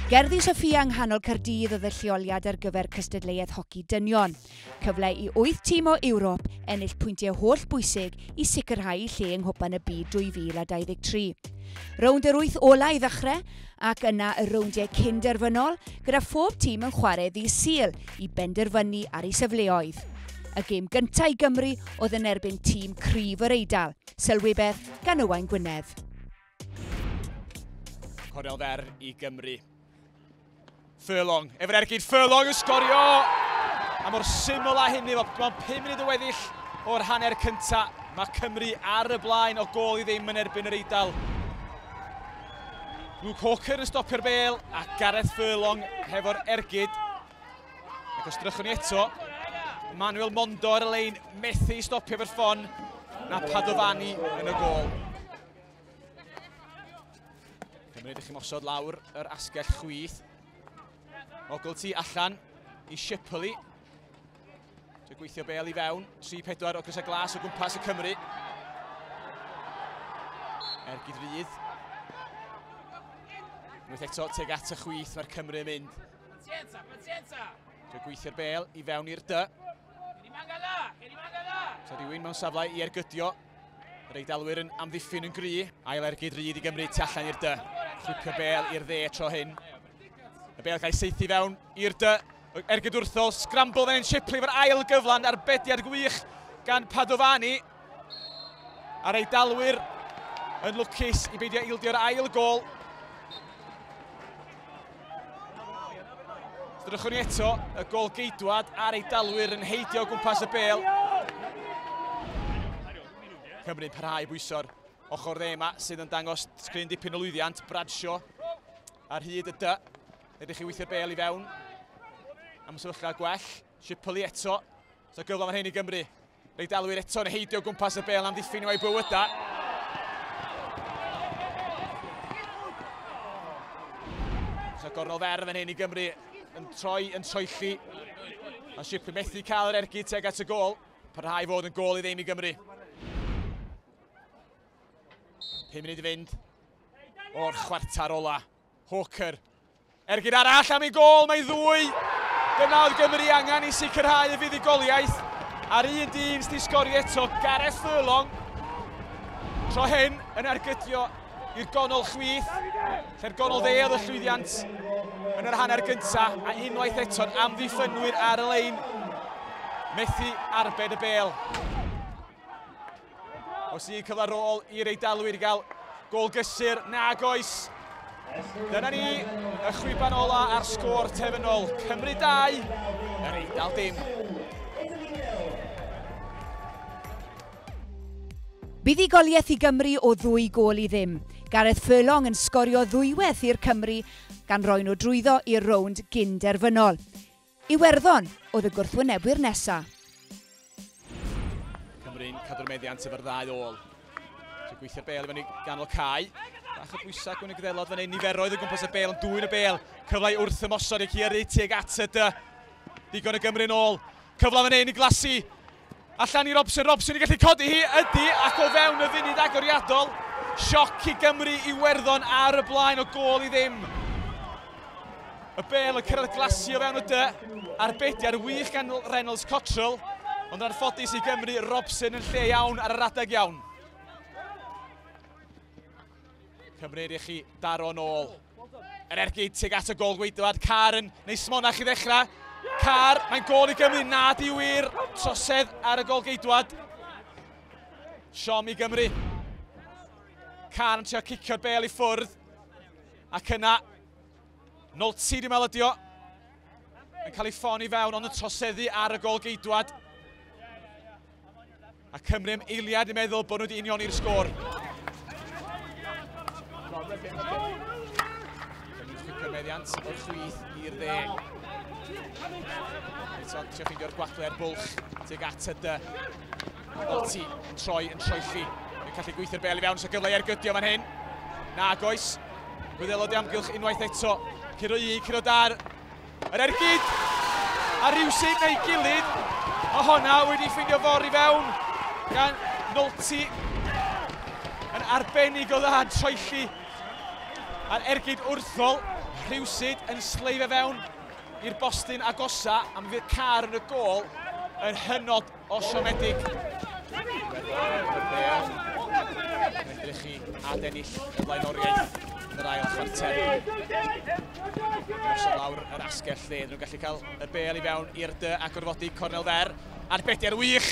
Gerddi Soffia yng nghanol Caerdydd oedd y lleoliad ar gyfer cystadleuaeth hoci dynion. Cyfle i 8 tîm o Ewrop ennill pwyntiau holl bwysig i sicrhau lle yng Nghwpan y Byd 2023. Rownd yr 8 ola i ddechrau ac yna y rowndiau cyn-derfynol gyda phob tîm yn chwarae ddydd Sul i benderfynu ar ei safleoedd. Y gêm gyntaf i Gymru oedd yn erbyn tîm cryf yr Eidal, sylwebeth gan Owain Gwynedd. Cornel fer i Gymru. Furlong, efo'r ergyd, Furlong yn sgorio! A mor syml â hynny, mae'n 5 munud o weddill o'r hanner cynta. Mae Cymru ar y blaen o gôl i ddim yn erbyn yr Eidal. Luke Hawker yn stopio'r bêl a Gareth Furlong hefo'r ergyd. Ac os drychwn ni eto, Manuel Mondo ar y lein methu stopio efo'r ffon na Padovani yn y gôl. Cymru ydych chi'n mosod lawr yr asgell chwith. Ogilty allan i Shipley. Dwi'n gweithio bêl i fewn. 3-4 o grysau glas o gwmpas y Cymru. Ergyd rydd. Unwaith eto tuag at y chwith mae'r Cymru yn mynd. Dwi'n gweithio'r bêl i fewn i'r dy. So rhywun mewn safle i ergydio. Yr Eidalwyr yn amddiffyn yn gry. Ail ergyd rydd i Gymru tu allan i'r dy. Chwipio bêl i'r dde tro hyn. Y bêl cael ei saethu fewn i'r dy. Ergyd wrthol, scramble fan hyn, Shipley efo'r ail gyflan, arbediad gwych gan Padovani. A'r Eidalwyr yn lwcus i beidio ildio'r ail gôl. Drychwn ni eto, y gôl geidwad a'r Eidalwyr yn heidio o gwmpas y bêl. Cymru'n parhau i bwyso'r ochr dde yma sydd yn dangos sgrin dipyn o lwyddiant. Bradshaw ar hyd y dy. Ydych chi weithio'r bêl i fewn am sefyllfa gwell. Shipley eto. So gyfle fan hyn i Gymru. Eidalwyr eto yn heidio gwmpas y bêl am ddiffyn i'w bywydau. So gornel fer fan hyn i Gymru yn troi, yn troelli. A Shipley methu cael yr ergyd tuag at y gôl. Parhau fod yn gôl i ddim i Gymru. 5 munud i fynd o'r chwarter ola. Hawker. Ergyd arall am ei gôl, mae ddwy. Dyna oedd Gymru angen i sicrhau y fuddugoliaeth. A'r un dyn sydd wedi sgorio eto, Gareth Furlong. Tro hyn yn ergydio i'r gonol chwith. Lle'r gonol dde oedd y llwyddiant yn yr hanner gyntaf. A unwaith eto'n amddiffynwyr ar y lein. Methu arbed y bêl. Os un cyfle ar ôl i'r Eidalwyr i gael gôl gysur, nag oes. Dyna ni, y chwiban ola a'r sgôr terfynol. Cymru 2, yr Eidal dim. Buddugoliaeth i Gymru o 2 gôl i ddim. Gareth Furlong yn sgorio ddwywaith i'r Cymru gan roi nhw drwyddo i'r rownd gyn-derfynol. Iwerddon oedd y gwrthwynebwyr nesaf. Cymru'n cadw'r meddiant efo'r ddau ôl. So gweithio'r bêl i fyny ganol cae. Bach o bwysau gwyn y Gwyddelod fan hyn, niferoedd o gwmpas y bêl, yn dwyn y bêl. Cyfle i wrth ymosod i Ciary tuag at y dy. Digon y Gymru'n ôl. Cyfle fan hyn i Glassey. Allan i Robson, Robson i gallu codi hi, ydy, ac o fewn y funud agoriadol. Sioc i Gymru Iwerddon ar y blaen o gôl i ddim. Y bêl yn cyrraedd Glassey o fewn y dy. Arbediad wych gan Reynolds Cottrell. Ond yn anffodus i Gymru, Robson yn lle iawn ar yr adeg iawn. Cymru i chi daro nôl. Yr ergyd tuag at y gôl gweidwad. Carr yn neu smonach i ddechrau. Carr, mae'n gôl i Gymru. Na di wir. Trosedd ar y gôl geidwad. Siom i Gymru. Carr yn trio cicio'r bêl i ffwrdd. Ac yna, Nolti dwi'n meddwl ydi o. Yn cael ei ffon i fewn, ond yn troseddu ar y gôl geidwad. A Cymru am eiliad yn meddwl bod nhw wedi unioni'r sgôr. Cymru'n chwipio'r meddiant o'r chwith i'r dde. Eto, trio ffeindio'r gwagle ar bwlch tuag at y dy. Nolti yn troi, yn troelli. Yn gallu gweithio'r bêl i fewn, so gyfle i ergydio fan hyn. Nag oes. Gwyddelod i amgylch unwaith eto. Curo un, curo dar. Yr ergyd! A rhywsut neu gilydd, mae honna wedi ffeindio ffordd i fewn gan Nolti. Yn arbennig o dda yn troelli. A'r ergyd wrthol, Rhywsyd yn sleifio fewn i'r bostyn agosa, a mi fydd Carr yn y gôl yn hynod o siomedig. Yn edrych i adennill y flaenoriaeth yn yr ail chwarter. Gosod lawr yr asgell lle, nhw'n gallu cael y bêl i fewn i'r dy a gorfodi cornel fer. Arbediad wych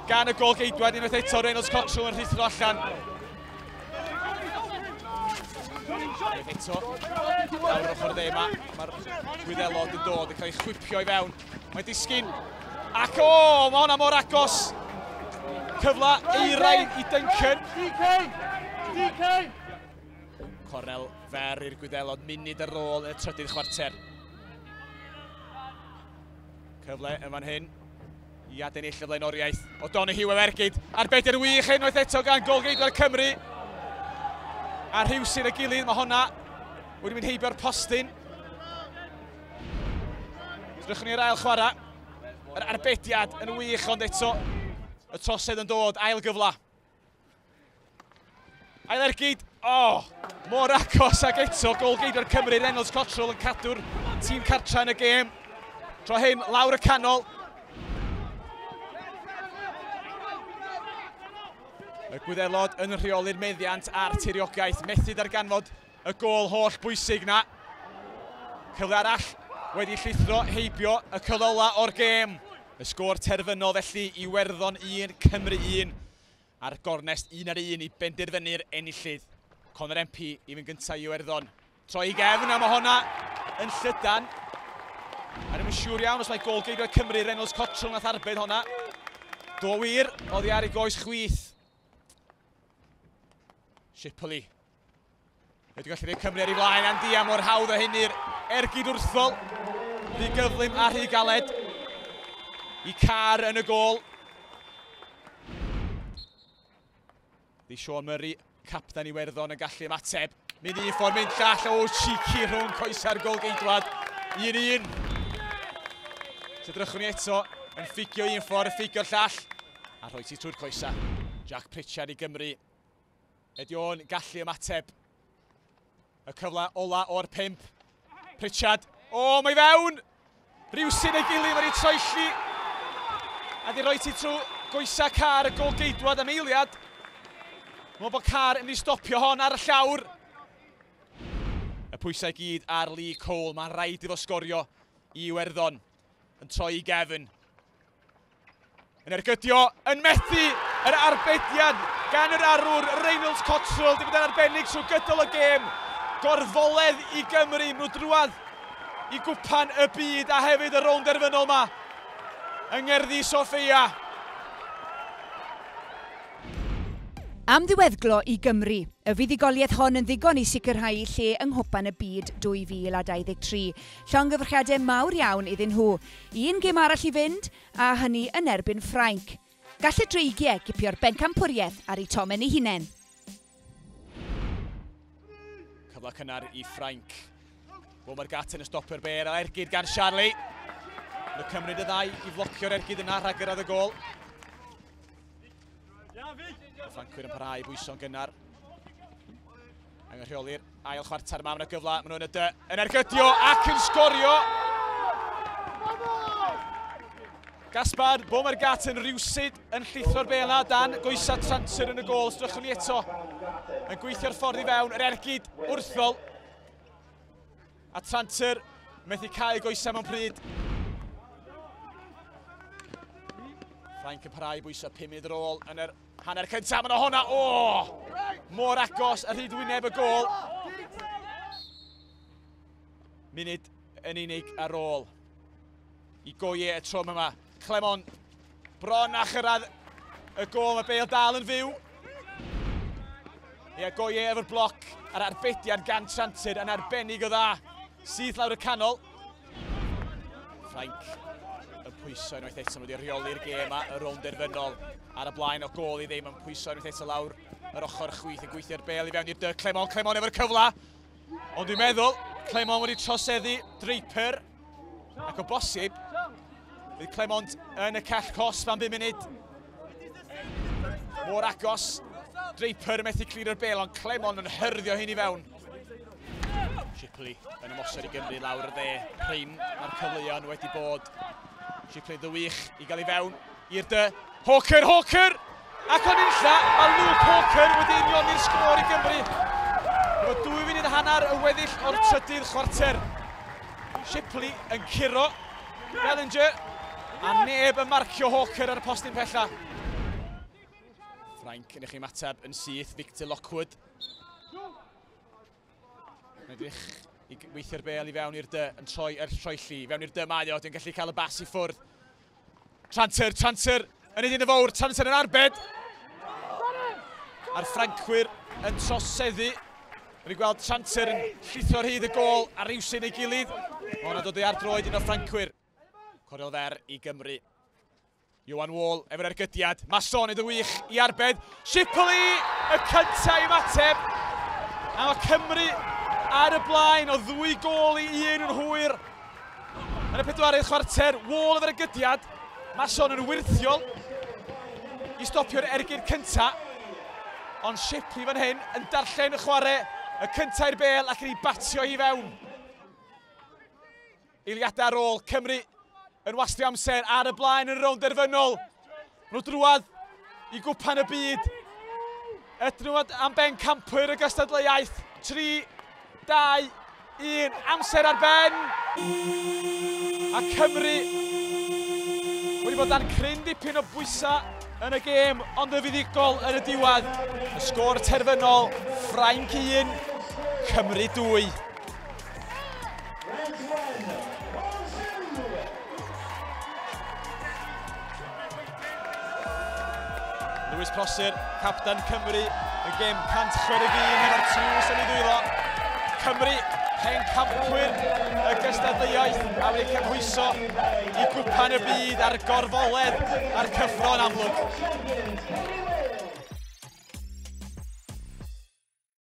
gan y gôl-geidwad unwaith eto, Reynolds Cottrell yn rhuthro allan. Unwaith eto, lawr yr ochr dde yma, mae'r Gwyddelod yn dod yn cael ei chwipio i fewn. Mae'n disgyn, ac o, mae hwnna mor agos. Cyfle euraidd i Duncan. DK! DK! Cornel fer i'r Gwyddelod, munud ar ôl y trydydd chwarter. Cyfle yn fan hyn i adennill y flaenoriaeth. O'Donoghue efo ergyd. Arbediad wych unwaith eto gan gôl-geidwad Cymru. A rhywsyn y gilydd, mae hwnna wedi mynd heibio'r postyn. Drychwn ni'r ail chwarae. Yr arbediad yn wych, ond eto y trosedd yn dod, ail gyfle. Ail ergyd, o, mor agos ag eto, gôl-geidwad Cymru, Reynolds Cottrell yn cadw'r tîm cartra yn y gêm. Tro hyn, lawr y canol. Y Gwyddelod yn rheoli'r meddiant a'r tiriogaeth, methu darganfod y gôl holl bwysig na. Cyfle arall wedi llithro heibio y cyfle ola o'r gêm. Y sgôr terfynol felly, Iwerddon 1, Cymru 1. A'r gornest 1-1 i benderfynu'r enillydd. Conor Empey i fynd gyntaf i Iwerddon. Troi i gefn, a mae hwnna yn llydan. A ddim yn siŵr iawn os mae gôl-geidwad Cymru, Reynolds Cottrell, nath arbed hwnna. Do wir, oddi ar ei goes chwith. Shipley. Wedi gallu rhoi Cymru ar ei flaen, Andia mor hawdd o hynny'r ergyd wrthol. Rhy gyflym a rhy galed. I Carr yn y gôl. Di Sean Murray, capten Iwerddon, yn gallu ymateb. Mynd un ffordd, mynd llall, o, cheeky rhwng coesa'r gôl-geidwad. 1-1. Sydrychwn ni eto, yn ffugio un ffordd, ffugio'r llall. A rhoi ti trwy'r coesa. Jack Pritchard i Gymru. Ydy o'n gallu ymateb. Y cyfle ola o'r 5. Pritchard, o, mae fewn! Rhywsyn ei gilydd, mae'n ei troelli. A di roi ti trwy goesa Carr y gôl-geidwad am eiliad. Mae'n bod Carr yn mynd i stopio hon ar y llawr. Y pwysau gyd ar Lee Cole. Mae'n rhaid iddo sgorio i Iwerddon. Yn troi i gefn. Yn ergydio, yn methu yr arbediad gan yr arwr Reynolds Cottrell. Di bod yn arbennig trwy gydol y gêm. Gorfoledd i Gymru, nhw drwadd i gwpan y byd a hefyd y rownd derfynol yma yng Ngerddi Soffia. Am ddiweddglo i Gymru, y fuddugoliaeth hon yn ddigon i sicrhau lle yng Nghwpan y Byd 2023. Llongyfarchiadau mawr iawn iddyn nhw. Un gêm arall i fynd, a hynny yn erbyn Ffrainc. Gall y Dreigiau gipio'r bencampwriaeth ar eu tomen eu hunain. Cyfle cynnar i Ffrainc. Boumgarten yn stopio'r bêl, a ergyd gan Charlie. Mae'n cymryd y ddau i flocio'r ergyd yna rhag gyrraedd y gôl. Y Ffrancwyr yn parhau i bwyso'n gynnar. Angen rheoli'r ail chwarter yma, mae'n gyfle, maen nhw'n y dy, yn ergydio ac yn sgorio. Gaspar Boumgarten rywsyd yn llithro'r bêl na dan goesa Tranter yn y gôl. Sdrychwn ni eto yn gweithio'r ffordd i fewn, yr ergyd wrthol. A Tranter methu cael goesa mewn pryd. Ffrainc yn parhau i bwyso 5 munud ar ôl yn yr hanner cyntaf. Mae'n honna, o! Mor agos ar hyd wyneb y gôl. Munud yn unig ar ôl. I Goye y tro yma. Clemon bron a chyrraedd y gôl, mae Bale dal yn fyw. Ie, Goye efo'r bloc a'r arbediad gan Tranter yn arbennig o dda. Syth lawr y canol. Ffrainc yn pwyso unwaith eto, wedi rheoli'r gêm yma, y rownd derfynol ar y blaen o gôl i ddim, yn pwyso unwaith eto lawr yr ochr chwith yn gweithio'r bêl i fewn i'r dy. Clemon, Clemon efo'r cyfle. Ond dwi'n meddwl, Clemon wedi troseddu Draper, ac o bosib, bydd Clemont yn y cell cosb am 5 munud. Mor agos, Draper yn methu clirio'r bêl, ond Clemon yn hyrddio hyn i fewn. Shipley yn ymosod i Gymru lawr y dde. Prin mae'r cyfleon wedi bod. Shipley ddywych i gael ei fewn i'r dy. Hawker, Hawker! Ac o'n unlla, mae Luke Hawker wedi unioni'r sgôr i Gymru. Efo 2 munud a hanner y weddill o'r trydydd chwarter. Shipley yn curo Bellinger, a neb yn marcio Hawker ar y postyn pella. Ffrainc yn eich ymateb yn syth, Victor Lockwood. Yn edrych i weithio'r bel i fewn i'r dy, yn troi er troelli. Fewn i'r dy mae o, dwi'n gallu cael y bas i ffwrdd. Tranter, Tranter, yn un y fawr, Tranter yn arbed. A'r Ffrancwyr yn troseddu. Rwy'n gweld Tranter yn llithro'r hyd y gôl a rywsyn ei gilydd. Mae hwnna'n dod i ar droed un o'r Ffrancwyr. Cornel fer i Gymru. Johan Wall efo'r ergydiad. Masson iddo wych i arbed. Shipley y cyntaf i ymateb. A mae Cymru ar y blaen o 2 gôl i 1 yn hwyr. Yn y pedwaredd chwarter, Wall efo'r ergydiad. Masson yn wyrthiol i stopio'r ergyd cyntaf. Ond Shipley fan hyn yn darllen y chwarae y cyntaf i'r bel ac yn ei batio i fewn. Eiliadau ar ôl, Cymru yn wastio amser ar y blaen yn y rownd derfynol. Nhw drwad i gwpan y byd. Ydyn nhw am ben campwyr y gystadleuaeth. 3, 2, 1, amser ar ben. A Cymru wedi bod dan cryn dipyn o bwysau yn y gêm, ond y fuddugol yn y diwedd. Y sgôr terfynol, Ffrainc 1, Cymru 2. Lewis Prosser, captan Cymru, y gêm 161 efo'r tlws yn ei ddwylo. Cymru, pencampwyr y gystadleuaeth a wedi cymhwyso i gwpan y byd a'r gorfoledd a'r cyffro'n amlwg.